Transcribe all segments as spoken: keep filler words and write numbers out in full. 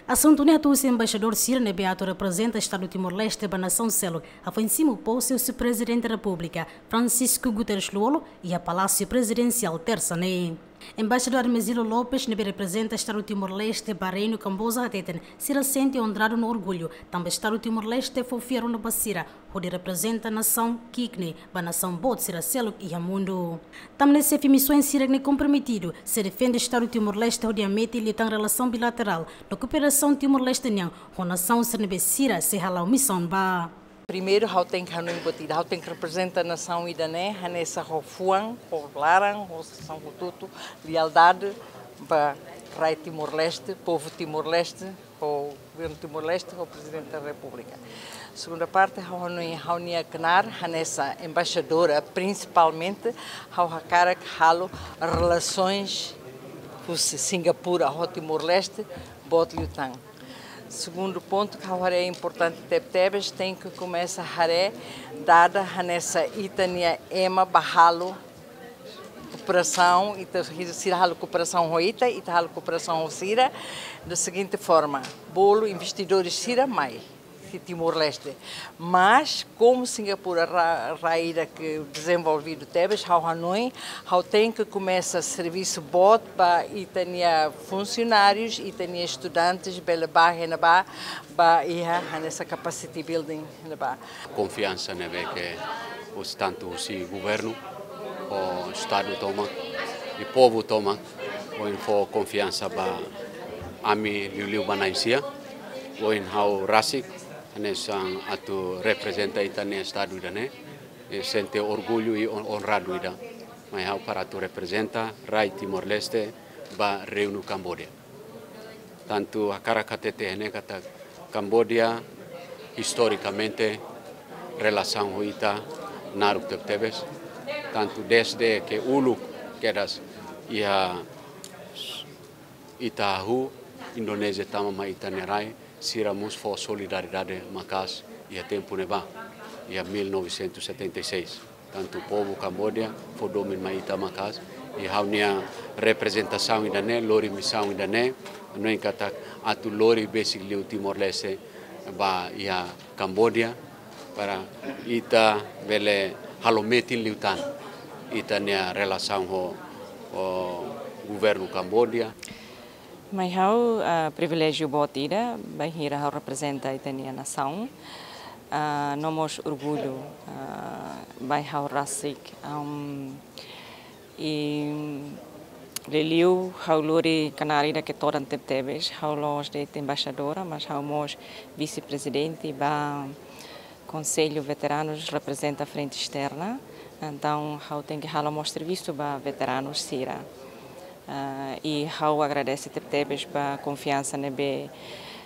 Asuntu ne'e atu husi embaixadór sira ne'ebé atu reprezenta Estadu Timor-Leste ba nasaun seluk hafoin simu pose husi Prezidente Repúblika, Francisco Guterres Lú-Olo, iha Palásiu Prezidensiál Tersa ne'e. Embaixadór Hermesilo Lopes ne'ebé reprezenta Estadu Timor-Leste ba Reinu Kamboja hateten sira sente onradu no orgullu tanba Estadu Timor-Leste fó fiar ona ba sira hodi reprezenta nasaun ki'ik ne'e ba nasaun boot sira seluk iha mundu. Tanba ne'e xefe misaun sira ne'e komprometidu sei defende Estadu Timor-Leste hodi hametin liután relasaun bilaterál no kooperasaun Timor-Leste nian ho nasaun sira ne'ebé sira sei hala'o misaun ba. Primeiru, ha'u tenke hanoin buat ida, ha'u tenke reprezenta nasaun ida-ne'e hanesan ho fuan, ho laran, ho sasán hotu-hotu, lealdade ba rai Timor-Leste, povu Timor-Leste, ho governu Timor-Leste, ho Prezidente da Repúblika. Segunda parte, ha'u hanoin, ha'u-nia knaar hanesan embaixadora, prinsipalmente ha'u hakarak halo relasoens husi Singapura ho Timor-Leste boot liután. Segundu pontu ke ha'u haree importante tebetebes, tenke komesa haree dada hanesan ita-nia ema ba halo kooperasaun, ita, sira halo kooperasaun ho ita, ita halo kooperasaun ho sira, da seguinte forma: bolu investidores sira mai iha Timor-Leste. Mas komu Singapura rai, rai ida ke dezenvolvidu tebes, ha'u hanoin, ha'u tenke komesa servisu boot ba ita-nia funsionárius, ita-nia estudantes, bele ba iha ne'ebá, ba iha hanesan capacity building iha ne'ebá. Konfiansa ne'ebé ke husi, tantu husi governu, ho Estadu tomak, i povu tomak, ohin fó konfiansa ba ami liuliu ba na'in-sia, ohin ha'u rasik, hanesan atu reprezenta ita-nia Estadu ida-ne'e, eh, sente orgullu i on-, onradu ida. Mai ha'u para atu reprezenta rai Timor-Leste ba Reinu Kamboja. Tantu hakarak hatete ne'e katak Kamboja, istorikamente, relasaun ho ita naruk tebetebes. Tantu dezde ke uluk kedas iha ita hahú, Indonézia tama mai ita-nia rai, sira mós fó solidariedade maka'as iha tempu ne'ebá, iha mil novecentos e setenta e seis. Tantu povu Kamboja fó domin mai ita maka'as, i ha'u-nia reprezentasaun ida-ne'e, lori misaun ida-ne'e, hanoin katak atu lori besik liu Timor-Leste ba iha Kamboja, para ita bele halo metin liután ita-nia relasaun ho, ho governu Kamboja. Mai ha'u, ah, priviléjiu boot ida, bainhira ha'u reprezenta ita-nia nasaun. Ah, no mós orgullu, ah, ba ha'u rasik. Am, i liuliu ha'u lori knaar ida ke todan tebetebes, ha'u la'ós de'it embaixadora, mas ha'u mós vise-prezidente ba Konsellu Veteranus, reprezenta Frente Esterna. Entaun, ha'u tenke halo mós servisu ba veteranus sira. Ah, i ha'u agradese tebetebes ba konfiansa ne'ebé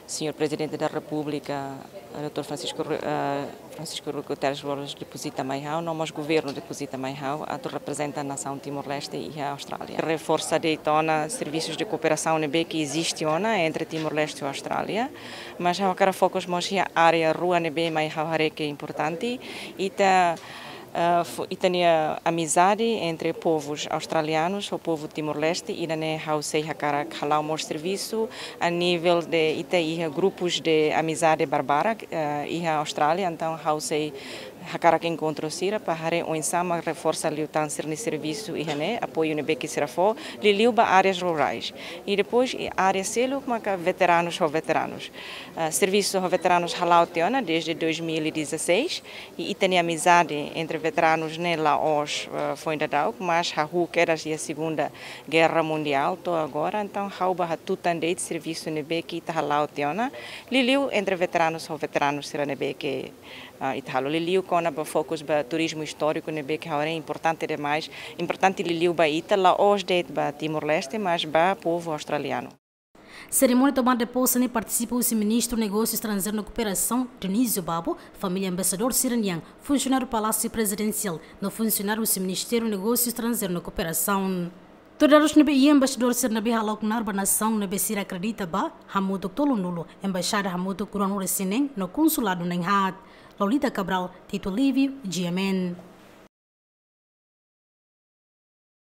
Señór Prezidente da Repúblika, doutór Francisco Ru-, ah, Francisco Guterres Lú-Olo depozita mai ha'u, no mós governu depozita mai ha'u, atu reprezenta nasaun Timor-Leste iha Austrália. Reforsa de'it ona servisus de kooperasaun ne'ebé ke eziste ona entre Timor-Leste ho Austrália, mas ha'u hakarak fokus mós iha área rua ne'ebé mai ha'u haree ke importante. Ita, ah, fo-, ita-nia amizade entre povus australianus ho povu Timor-Leste, ida-ne'e ha'u sei hakarak hala'o mós servisu a nivel de ita iha grupus de amizade barbarak, ah, iha Austrália, entaun ha'u sei hakarak enkontru sira para haree oinsá mak reforsa liután sira-nia servisu iha ne'e, apoiu ne'ebé ke sira fó, liuliu ba áreas rurais. I depois, i área seluk maka veteranus ho veteranus. Ah, servisu ho veteranus hala'o tiha ona dezde dois mil e dezasseis, i ita-nia amizade entre veteranus ne'e la'ós, ah, foin daudauk, mas hahú kedas iha Segunda Guerra Mundiál to'o agora, entaun ha'u bá hatutan de'it servisu ne'ebé ke ita hala'o tiha ona, liuliu entre veteranus ho veteranus sira ne'ebé ke, ah, ita halo, liuliu kona-ba fokus ba turizmu istóriku ne'ebé ke ha'u haree importante demais, importante liuliu ba ita, la'ós de'it ba Timor-Leste, mas ba povu australianu. Serimónia tomada de pose ne'e partisipa husi Ministru Negósiu Estranjeiru no Kooperasaun, Dionísio Babo, família embaixadór sira-nian, funsionáriu Palásiu Prezidensiál, no funsionáriu husi Ministériu Negósiu Estranjeiru no Kooperasaun. Tuir dadus ne'ebé iha, embaixadór sira ne'ebé hala'o knaar ba nasaun ne'ebé sira akredita ba, hamutuk tolunulu, embaixada hamutuk ruanulu-resin-neen, no konsuladu na'in-haat. Lolita Cabral, Tito Livio, G M N.